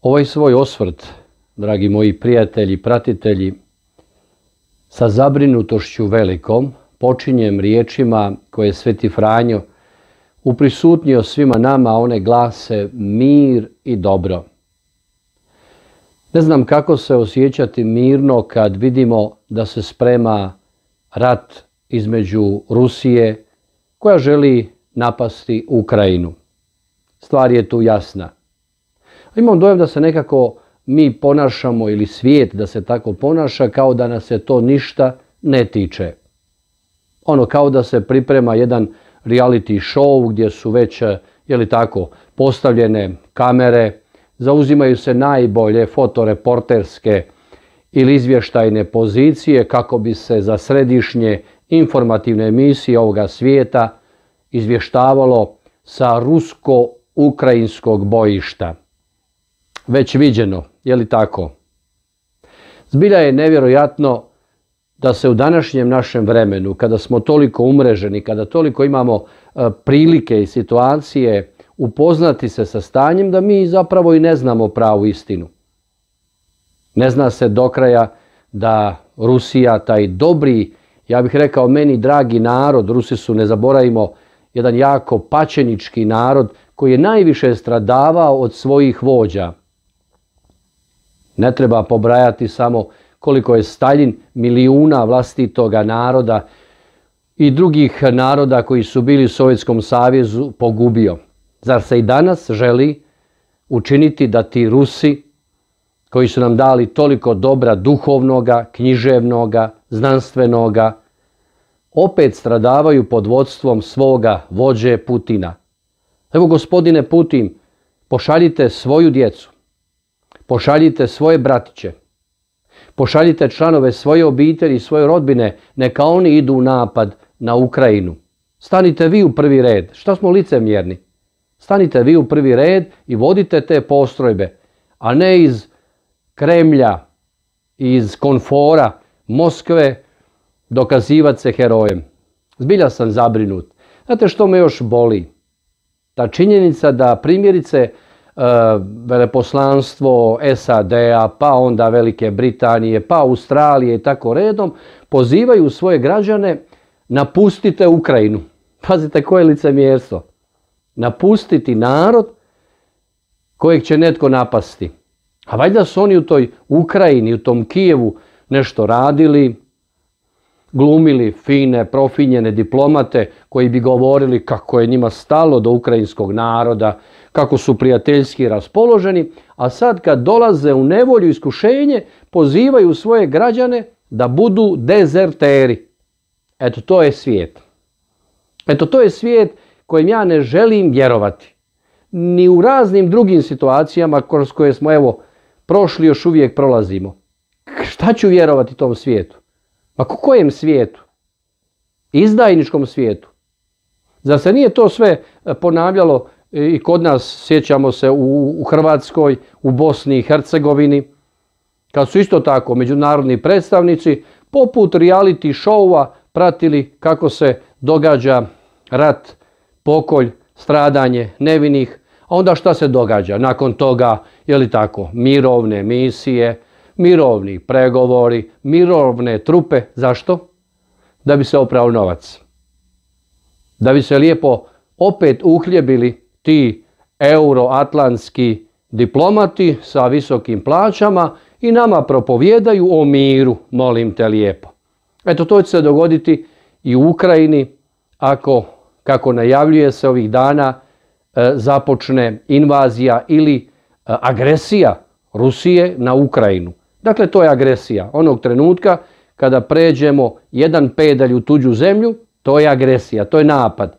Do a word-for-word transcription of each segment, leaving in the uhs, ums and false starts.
Ovaj svoj osvrt, dragi moji prijatelji, pratitelji, sa zabrinutošću velikom počinjem riječima koje je Sveti Franjo uprisutnio svima nama, one glase mir i dobro. Ne znam kako se osjećati mirno kad vidimo da se sprema rat između Rusije koja želi napasti Ukrajinu. Stvar je tu jasna. Imam dojam da se nekako mi ponašamo, ili svijet da se tako ponaša, kao da nas se to ništa ne tiče. Ono kao da se priprema jedan reality show gdje su već, je li tako, postavljene kamere, zauzimaju se najbolje fotoreporterske ili izvještajne pozicije kako bi se za središnje informativne emisije ovoga svijeta izvještavalo sa rusko-ukrajinskog bojišta. Već viđeno, je li tako? Zbilja je nevjerojatno da se u današnjem našem vremenu, kada smo toliko umreženi, kada toliko imamo prilike i situacije upoznati se sa stanjem, da mi zapravo i ne znamo pravu istinu. Ne zna se do kraja da Rusija, taj dobri, ja bih rekao meni dragi narod, Rusi su, ne zaboravimo, jedan jako pačenički narod koji je najviše stradavao od svojih vođa. Ne treba pobrajati samo koliko je Staljin milijuna vlastitoga naroda i drugih naroda koji su bili u Sovjetskom savezu pogubio. Zar se i danas želi učiniti da ti Rusi, koji su nam dali toliko dobra duhovnoga, književnoga, znanstvenoga, opet stradavaju pod vodstvom svoga vođe Putina? Evo, gospodine Putin, pošaljite svoju djecu, pošaljite svoje bratiće, pošaljite članove svoje obitelji i svoje rodbine, neka oni idu u napad na Ukrajinu. Stanite vi u prvi red. Šta smo licemjerni? Stanite vi u prvi red i vodite te postrojbe, a ne iz Kremlja, iz komfora Moskve dokazivati se herojem. Zbilja sam zabrinut. Znate što me još boli? Ta činjenica da primjerice veleposlanstvo S A D-a, pa onda Velike Britanije, pa Australije i tako redom, pozivaju svoje građane: napustite Ukrajinu. Pazite koje licemjerstvo. Napustiti narod kojeg će netko napasti. A valjda su oni u toj Ukrajini, u tom Kijevu nešto radili, glumili fine, profinjene diplomate koji bi govorili kako je njima stalo do ukrajinskog naroda, kako su prijateljski raspoloženi, a sad kad dolaze u nevolju i iskušenje, pozivaju svoje građane da budu dezerteri. Eto, to je svijet. Eto, to je svijet kojem ja ne želim vjerovati. Ni u raznim drugim situacijama kroz koje smo, evo, prošli, još uvijek prolazimo. Šta ću vjerovati tom svijetu? Ma kojem svijetu? Izdajničkom svijetu. Zar se nije to sve ponavljalo i kod nas, sjećamo se, u, u Hrvatskoj, u Bosni i Hercegovini, kad su isto tako međunarodni predstavnici poput reality showa pratili kako se događa rat, pokolj, stradanje nevinih, a onda šta se događa? Nakon toga, je li tako, mirovne misije, mirovni pregovori, mirovne trupe. Zašto? Da bi se oprao novac. Da bi se lijepo opet uhljebili ti euroatlantski diplomati sa visokim plaćama i nama propovijedaju o miru, molim te lijepo. Eto, to će se dogoditi i u Ukrajini ako, kako najavljuje se ovih dana, započne invazija ili agresija Rusije na Ukrajinu. Dakle, to je agresija. Onog trenutka kada pređemo jedan pedalj u tuđu zemlju, to je agresija, to je napad.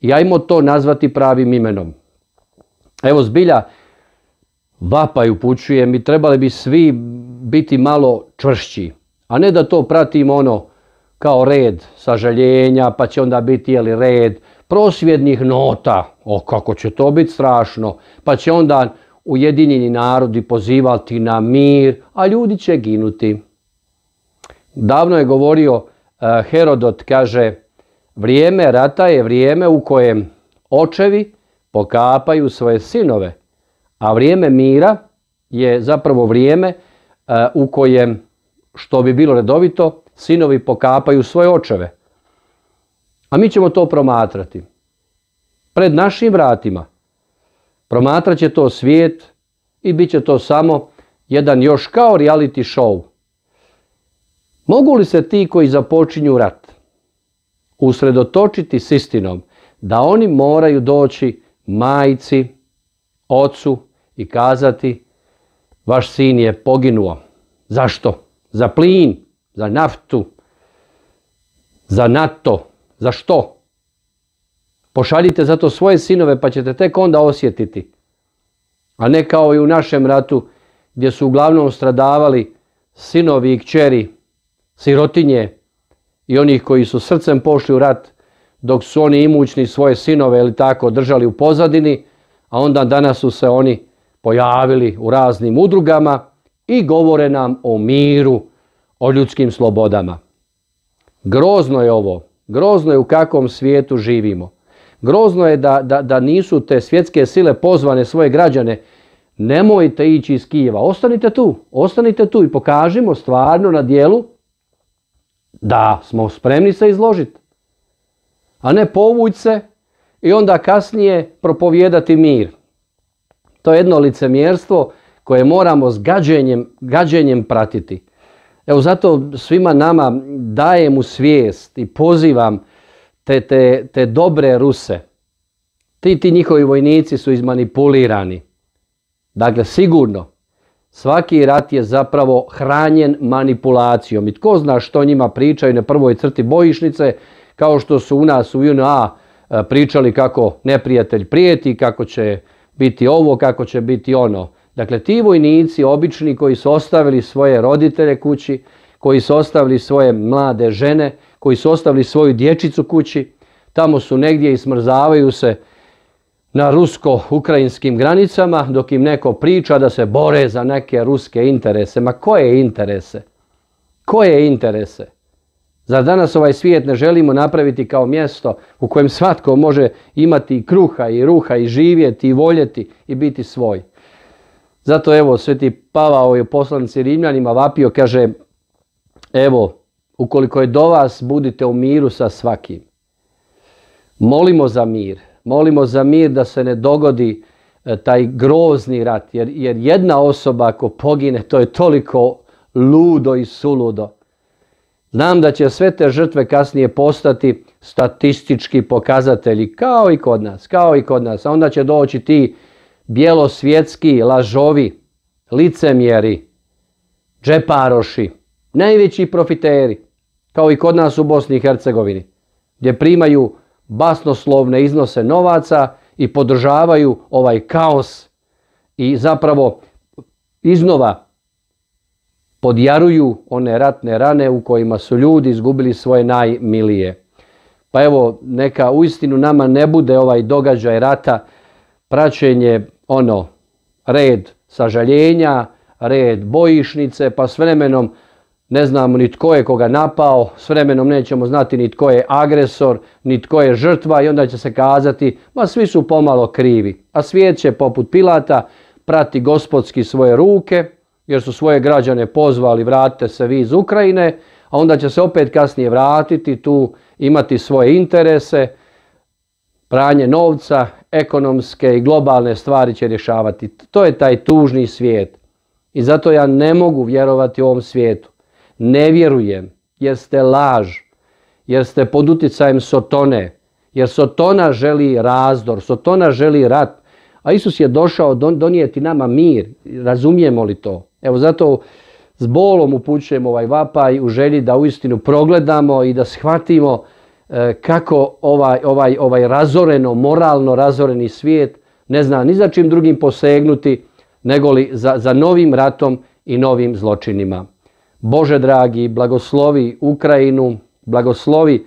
I ajmo to nazvati pravim imenom. Evo, zbilja vapaj upućujem i trebali bi svi biti malo čvršći, a ne da to pratimo ono kao red sažaljenja, pa će onda biti, jeli, red prosvjednih nota. O, kako će to biti strašno. Pa će onda Ujedinjeni narodi pozivati na mir, a ljudi će ginuti. Davno je govorio uh, Herodot, kaže: vrijeme rata je vrijeme u kojem očevi pokapaju svoje sinove, a vrijeme mira je zapravo vrijeme u kojem, što bi bilo redovito, sinovi pokapaju svoje očeve. A mi ćemo to promatrati. Pred našim vratima. Promatrat će to svijet i bit će to samo jedan još kao reality show. Mogu li se ti koji započinju rat usredotočiti s istinom da oni moraju doći majci, ocu i kazati vaš sin je poginuo. Zašto? Za plin, za naftu, za NATO. Za što? Pošaljite zato svoje sinove pa ćete tek onda osjetiti. A ne kao i u našem ratu gdje su uglavnom stradavali sinovi i kćeri, sirotinje i onih koji su srcem pošli u rat dok su oni imućni svoje sinove ili tako držali u pozadini, a onda danas su se oni pojavili u raznim udrugama i govore nam o miru, o ljudskim slobodama. Grozno je ovo, grozno je u kakvom svijetu živimo. Grozno je da, da, da nisu te svjetske sile pozvane svoje građane, nemojte ići iz Kijeva, ostanite tu, ostanite tu i pokažimo stvarno na djelu da smo spremni se izložiti. A ne povući se i onda kasnije propovijedati mir. To je jedno licemjerstvo koje moramo s gađenjem, gađenjem pratiti. Evo zato svima nama dajem u svijest i pozivam te, te, te dobre Ruse. Ti, ti njihovi vojnici su izmanipulirani. Dakle, sigurno, svaki rat je zapravo hranjen manipulacijom. I tko zna što njima pričaju na prvoj crti bojišnice, kao što su u nas u J N A pričali kako neprijatelj prijeti, kako će biti ovo, kako će biti ono. Dakle, ti vojnici obični koji su ostavili svoje roditelje kući, koji su ostavili svoje mlade žene, koji su ostavili svoju dječicu kući, tamo su negdje i smrzavaju se na rusko-ukrajinskim granicama, dok im neko priča da se bore za neke ruske interese. Ma koje interese? Koje interese? Zar danas ovaj svijet ne želimo napraviti kao mjesto u kojem svatko može imati i kruha i ruha i živjeti i voljeti i biti svoj? Zato evo Sveti Pavao je u poslanici Rimljanima vapio, kaže, evo, ukoliko je do vas, budite u miru sa svakim. Molimo za mir. Molimo za mir da se ne dogodi e, taj grozni rat. Jer, jer jedna osoba ako pogine, to je toliko ludo i suludo. Znam da će sve te žrtve kasnije postati statistički pokazatelji, kao i kod nas, kao i kod nas. A onda će doći ti bjelosvjetski lažovi, licemjeri, džeparoši, najveći profiteri, kao i kod nas u Bosni i Hercegovini, gdje primaju basnoslovne iznose novaca i podržavaju ovaj kaos i zapravo iznova podjaruju one ratne rane u kojima su ljudi izgubili svoje najmilije. Pa evo, neka uistinu nama ne bude ovaj događaj rata praćenje ono, red sažaljenja, red bojišnice, pa s vremenom ne znamo ni tko je koga napao, s vremenom nećemo znati ni tko je agresor, ni tko je žrtva i onda će se kazati, ma svi su pomalo krivi. A svijet će poput Pilata prati gospodski svoje ruke, jer su svoje građane pozvali, vratite se vi iz Ukrajine, a onda će se opet kasnije vratiti tu, imati svoje interese, pranje novca, ekonomske i globalne stvari će rješavati. To je taj tužni svijet. I zato ja ne mogu vjerovati u ovom svijetu. Ne vjerujem, jer ste laž, jer ste pod utjecajem Sotone, jer Sotona želi razdor, Sotona želi rat, a Isus je došao donijeti nama mir. Razumijemo li to? Evo zato s bolom upućujem ovaj vapaj u želji da uistinu progledamo i da shvatimo kako ovaj, ovaj, ovaj razoreno, moralno razoreni svijet ne zna ni za čim drugim posegnuti, nego li za, za novim ratom i novim zločinima. Bože dragi, blagoslovi Ukrajinu, blagoslovi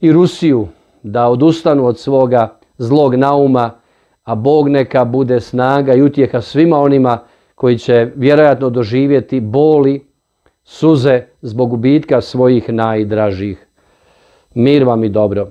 i Rusiju da odustanu od svoga zlog nauma, a Bog neka bude snaga i utjeha svima onima koji će vjerojatno doživjeti boli, suze zbog gubitka svojih najdražih. Mir vam i dobro.